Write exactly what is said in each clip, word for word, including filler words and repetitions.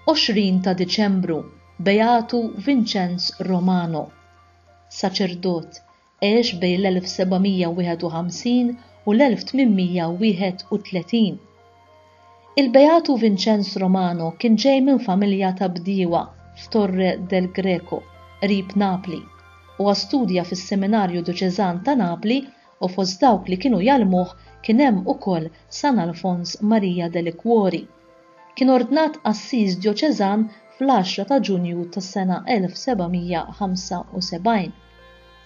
Għoxrin ta' Diċembru, Beatu Vincenz Romano. Saċerdot, għex bejn l-elf sebgħamija wieħed u ħamsin u l-elf tmienmija wieħed u tletin. Il-Beatu Vincenz Romano kien ġej minn familja ta' bdiewa f'Torre del Greco, qrib Napli. Huwa studja fis-Seminarju Dioċeżan ta' Napli u fost dawk li kienu jgħallmuh kien hemm ukoll San Alfons Maria de Liquori. Kien ordnat qassis dioċeżan fl-għaxra ta' Ġunju tas-sena elf sebgħamija ħamsa u sebgħin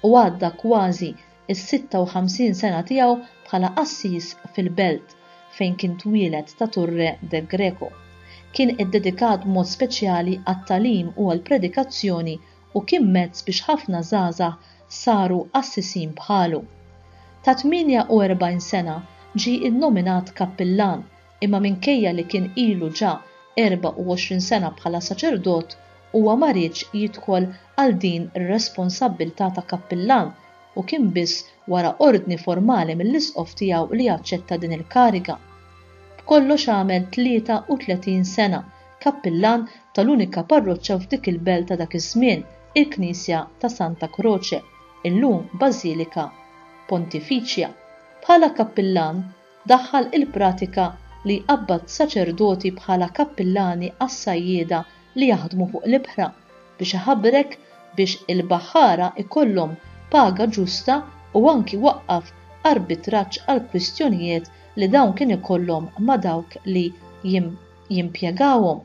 u għadda kważi is-sitta u ħamsin sena tiegħu bħala qassis fil-belt fejn kien twieled ta' Torre del Greco. Kien iddedikat b'mod speċjali għat-tagħlim u għall-predikazzjoni u kien mezz biex ħafna żgħażagħ saru qassisin bħalu. Ta' tmienja u erbgħin sena ġie innominat kappillan, imma minkejja li kien ilu ġa erba' u għoxrin sena bħala saċerdot, huwa ma riedx jidħol għal din ir-responsabbiltà ta' kappillan u kien biss wara ordni formali mill-isqof tiegħu li aċċetta din il-kariga. B'kollox għamel tlieta u tletin sena kappillan tal-unika parroċċa f'dik il-belt ta' dak iż-żmien, il-Knisja ta' Santa Croce, illum Bażilika Pontifiċja. Bħala kappillan daħħal il-pratika li jqabbad saċerdoti bħala kappillani għas-sajjieda li jaħdmu fuq l-ibħra biex iħabrek biex il-baħħara ikollhom paga ġusta u anki waqqaf arbitraġġ għal kwistjonijiet li dawn kien ikollhom ma' dawk li jim-, jimpjegawhom.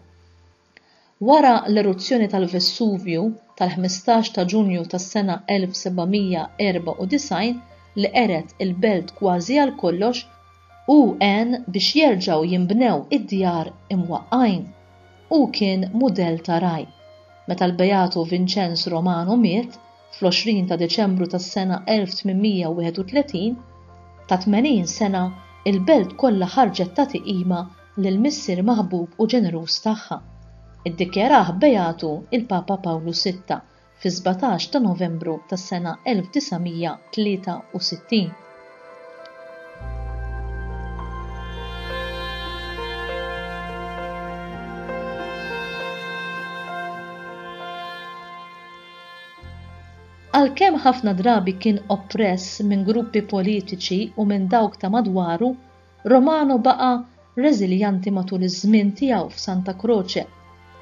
Wara l-eruzzjoni tal-Vesuvju tal-ħmistax ta' Ġunju tas-sena elf sebgħamija erba' u disgħin li qeret il-belt kważi għal kollox, u għen biex jerġgħu jinbnew id-djar imwaqqajn. U kien mudell ta' raj. Meta l-Beatu Vincenz Romano miet fl-għoxrin ta' Deċembru tas-sena elf tmienmija wieħed u tletin, ta' tmenin sena, il-belt kollha ħarġet tagħti qima lil missier maħbub u ġeneruż tagħha. Iddikjarah Beatu il-Papa Pawlu sitta fi sbatax ta' Novembru tas-sena elf disamija tlieta u sittin. Għalkemm ħafna drabi kien oppress minn gruppi politiċi u minn dawk ta' madwaru, Romano baqa' reżiljanti matul iż-żmien tiegħu f'Santa Croce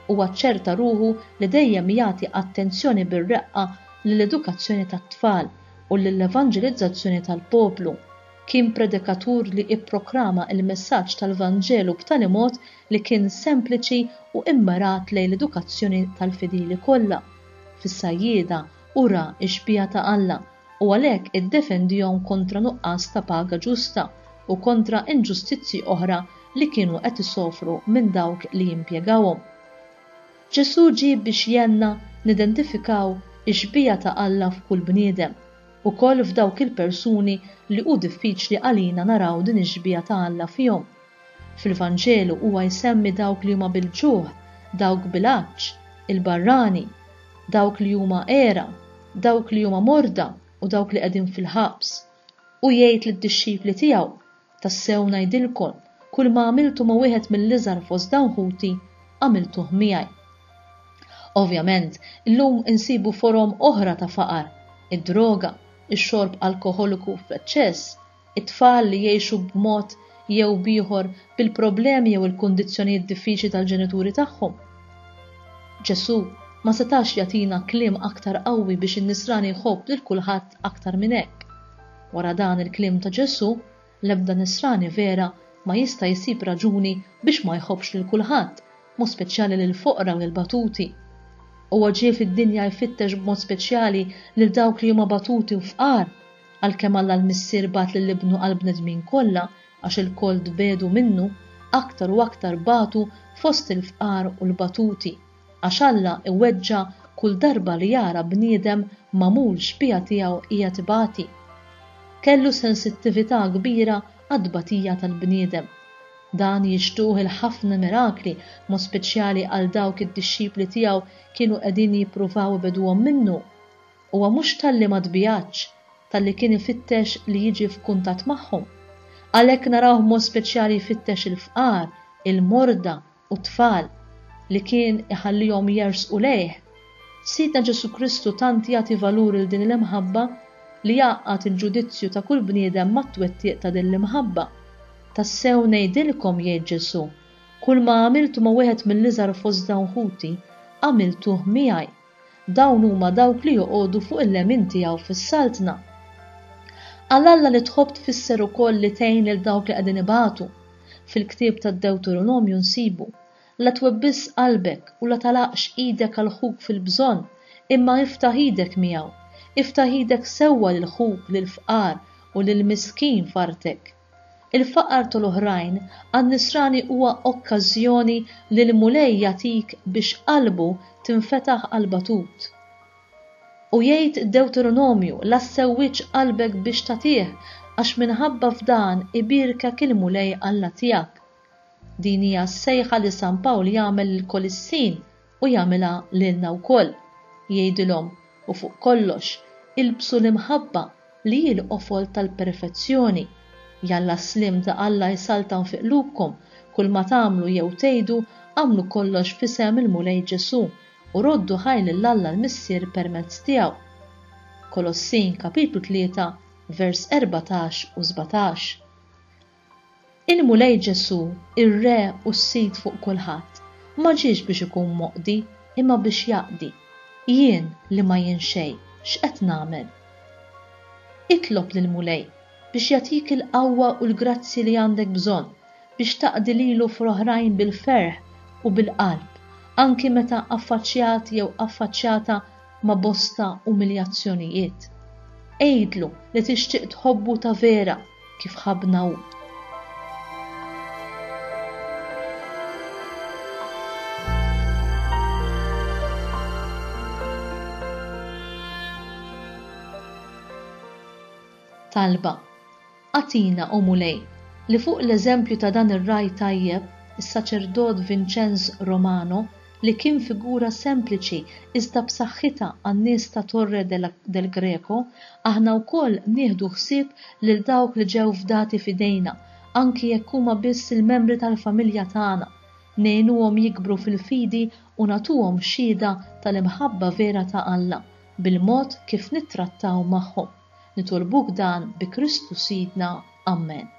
u aċċerta ruħu li dejjem jagħti attenzjoni bir-reqqa lill-edukazzjoni tat-tfal u lill-evanġelizzazzjoni tal-poplu. Kien predikatur li ipprokrama il-messaġġ tal-Vanġelu b'tali mod li kien sempliċi u immirat lejn l-edukazzjoni tal-fidili kollha. Fis-sajjieda ura x-xbieha ta' Alla u għalhekk iddefendihom kontra nuqqas ta' paga ġusta u kontra inġustizzji oħra li kienu qed isofru minn dawk li jimpjegawhom. Ġesù ġie biex jenna nidentifikaw ix-xbieha ta' Alla f'kull bniedem, ukoll f'dawk il-persuni li hu diffiċli għalina naraw din ix-xbieha ta' Alla fihom. Fil-Vanġelu huwa jsemmi dawk li huma bil-ġuħ, dawk bil-għatx, il-barrani, dawk li huma għera, dawk li huma morda u dawk li qegħdin fil-ħabs. U jgħid lid-dixxipli tiegħu, tassew ngħidilkom, kull ma għamiltu ma' wieħed mill-iżgħar fost dawn ħuti, għamiltuh miegħi. Ovvjament, illum insibu forom oħra ta' faqar, id-droga, ix-xorb alkoholiku f'eċċess, it-tfal li jgħixu b'mod jew b'ieħor bil-problemi jew il-kundizzjonijiet diffiċli tal-ġenituri tagħhom. Ġesù ma setax jagħtina kliem aktar qawwi biex in-nisrani jħobb lil kulħadd aktar minn hekk. Wara dan il-kliem ta' Ġesù, l-ebda nisrani vera ma jista' jsib raġuni biex ma jħobbx lil kulħadd, mod speċjali lil foqra u lil batuti. Huwa ġie fid-dinja jfittex b'mod speċjali lil dawk li huma batuti u fqar, għalkemm Alla l-Missier bagħat lil ibnu għall-bnedmin kollha għax il-koll tbedu minnu, aktar u aktar batu fost il-fqar u l-batuti, għax Alla iweġġa' kull darba li jara bniedem magħmul xbieha tiegħu qiegħed ibati. Kellu sensittività kbira għat-tbatija tal-bniedem. Dan jixtuh il-ħafna mirakli, mod speċjali għal dawk id-dixxipli tiegħu kienu qegħdin jippruvaw ibeduhom minnu. Huwa mhux talli ma tbijatx, talli kien ifittex li jiġi f'kuntatt magħhom. Għalhekk narawh mod speċjali jfittex il-fqar, il-morda u t-tfal. li kien iħallihom jersqu lejh. Sidna Ġesù Kristu tant jagħti valur lil din l-imħabba li jgħaqqad il-ġudizzju ta' kull bniedem mat-twettiq ta' din l-imħabba. Tassew ngħidilkom, jgħid Ġesù, kull ma għamiltu ma' wieħed mill-iżgħar fost dawn ħuti, għamiltuh miegħi. Dawn huma dawk li joqogħdu fuq il-lemin tiegħu fis-saltna. Għal Alla li tħobb tfisser ukoll li tgħin lil dawk li qegħdin ibatu. Fil-ktieb tad-Dewteronomju nsibu, La twebbisx qalbek u la tagħlaqx idek għal ħuk fil-bżonn, imma iftaħ idek miegħu. Iftaħ idek sewwa lil ħuk, lill-fqar u lill-miskin f'artek. Il-faqar tal-oħrajn għan-nisrani huwa okkażjoni li l-Mulej jagħtik biex qalbu tinfetaħ għall-batut. U jgħid id-Dewteronomju, la ssewwiġ qalbek biex tagħtih, għax minħabba f'dan ibierkek il-Mulej Alla tiegħek. Din hija s-sejħa li San Pawl jagħmel lill-Kolissin u jagħmilha lilna wkoll. Jgħidilhom, u fuq kollox, ilbsu l-imħabba li hi l-qofol tal-perfezzjoni. Jalla s-sliem ta' Alla jsaltan fi qlubkom, kull ma tagħmlu jew tgħidu, agħmlu kollox f'isem il-Mulej Ġesù u roddu ħaj lil Alla l-Missier permezz tiegħu. Kolossin kapitlu tlieta, vers erbatax u sbatax. Il-Mulej Ġesù, ir-Re u s-Sid fuq kulħadd, ma ġiex biex ikun moqdi, imma biex jaqdi. Jien li ma jien xejn, x'qed nagħmel? Itlob lill-Mulej biex jagħtik il-qawwa u l-grazzi li għandek bżonn biex taqdi lilu fl-oħrajn bil-ferħ u bil-qalb, anki meta affaċċjat jew affaċċjata ma' bosta umiljazzjonijiet. Għidlu li tixtieq tħobbu ta' vera kif ħabbna hu. Talba. Agħtina, o Mulej, li fuq l-eżempju ta' dan ir-ragħaj tajjeb, is-saċerdot Vincenz Romano, li kien figura sempliċi iżda b'saħħitha għan-nies ta' Torre del Greco, aħna wkoll nieħdu ħsieb lil dawk li ġew fdati f'idejna, anki jekk huma biss il-membri tal-familja tagħna, ngħinuhom jikbru fil-fidi u nagħtuhom xhieda tal-imħabba vera ta' Alla bil-mod kif nittrattaw magħhom. Nitolbuk dan bi Kristu Sidna. Amen.